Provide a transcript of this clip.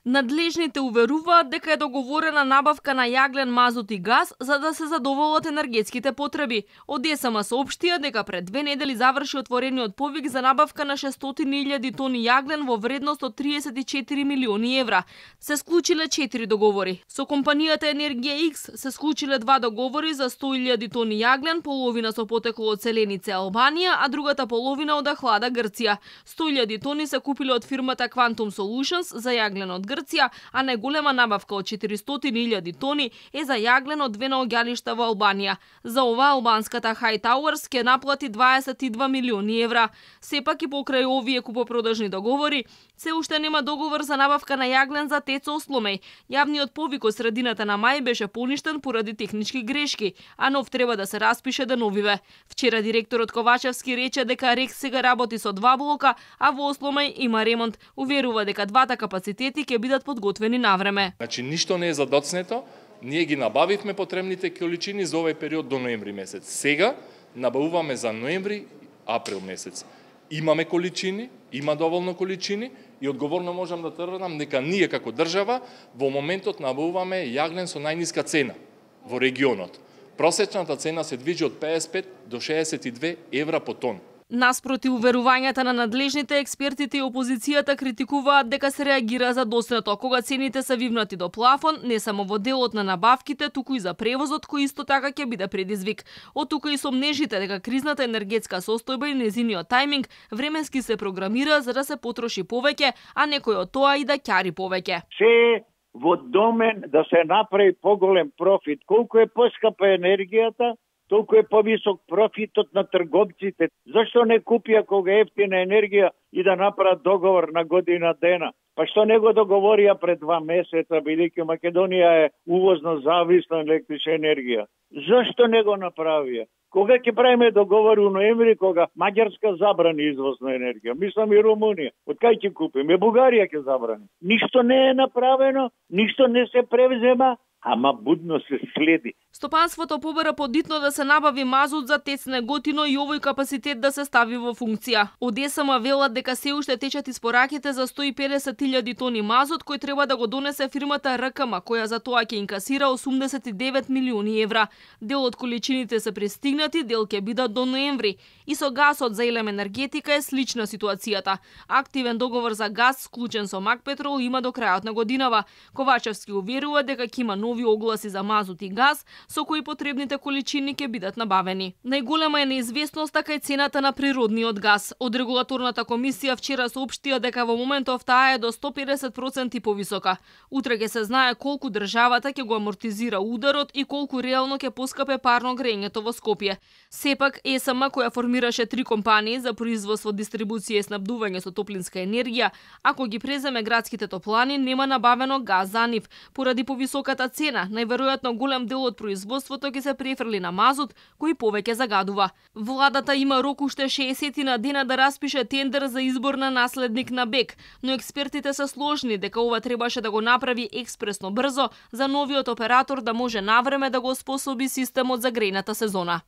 Надлежните уверуваат дека е договорена набавка на јаглен, мазут и газ за да се задоволат енергетските потреби. Од ЕСМ соопштија дека пред 2 недели заврши отворениот повик за набавка на 600.000 тони јаглен во вредност од 34 милиони евра. Се склучиле 4 договори. Со компанијата Енергија X се склучиле 2 договори за 100.000 тони јаглен, половина со потекло од Селенице, Албанија, а другата половина од Ахлада, Грција. 100.000 тони се купиле од фирмата Quantum Solutions за јаглен од Грција, а најголема набавка од 400.000 тони е за јаглен од 2 наоѓалишта во Албанија. За ова албанската High Towers ќе наплати 22 милиони евра. Сепак и покрај овие купопродажни договори, се уште нема договор за набавка на јаглен за ТЕЦ Осломеј. Јавниот повик од средината на мај беше поништен поради технички грешки, а нов треба да се распише деновиве. Вчера директорот Ковачевски рече дека РЕК сега работи со 2 блока, а во Осломеј има ремонт. Уверува дека двата капацитети ќе бидат подготвени навреме. Значи ништо не е задоцнето. Ние ги набавивме потребните количини за овој период до ноември месец. Сега набавуваме за ноември, април месец. Имаме количини, има доволно количини и одговорно можам да тврдам дека ние како држава во моментот набавуваме јаглен со најниска цена во регионот. Просечната цена се движи од 55 до 62 евра по тон. Наспроти уверувањата на надлежните, експертите и опозицијата критикуваат дека се реагира задоснато кога цените се вивнати до плафон, не само во делот на набавките, туку и за превозот кој исто така ќе биде предизвик. Од тука и сомнежите дека кризната енергетска состојба и незиниот тајминг временски се програмира за да се потроши повеќе, а некој од тоа и да ќари повеќе. Се во домен да се направи поголем профит. Колку е поскапа енергијата, толку е повисок профитот на трговците. Зашто не купија кога е ефтина енергија и да направат договор на година дена? Па што не го договорија пред 2 месеца, бидејќи Македонија е увозно зависна електрична енергија? Зашто не го направија? Кога ќе правиме договор у ноември, кога Маѓарска забрани извоз на енергија? Мислам и Румунија. Од кај ќе купиме? Бугарија ќе забрани. Ништо не е направено, ништо не се превзема, ама будно се следи. Стопанството побара подитно да се набави мазут за ТЕЦ Неготино и овој капацитет да се стави во функција. Од ЕСМ велат дека се уште течат испораките за 150.000 тони мазут кој треба да го донесе фирмата РКМ, која за тоа ќе инкасира 89 милиони евра. Дел од количините се пристигнати, дел ќе бидат до ноември. И со гасот за Елем енергетика е слична ситуацијата. Активен договор за газ склучен со Макпетрол има до крајот на годинава. Ковачевски уверува дека ќе има нови огласи за мазут и газ, со кои потребните количини ќе бидат набавени. Најголема е неизвестноста кај цената на природниот газ. Од регулаторната комисија вчера соопштија дека во моментов таа е до 150% повисока. Утре ќе се знае колку државата ќе го амортизира ударот и колку реално ќе поскапе парно грењето во Скопје. Сепак ЕСМ, која формираше 3 компании за производство, дистрибуција и снабдување со топлинска енергија, ако ги преземе градските топлани, нема набавено газ за нив. Поради повисоката цена, најверојатно голем дел од производството ќе се префрли на мазут, кој повеќе загадува. Владата има рок уште 60 на дена да распише тендер за избор на наследник на БЕК, но експертите се сложни дека ова требаше да го направи експресно брзо за новиот оператор да може навреме да го способи системот за грејната сезона.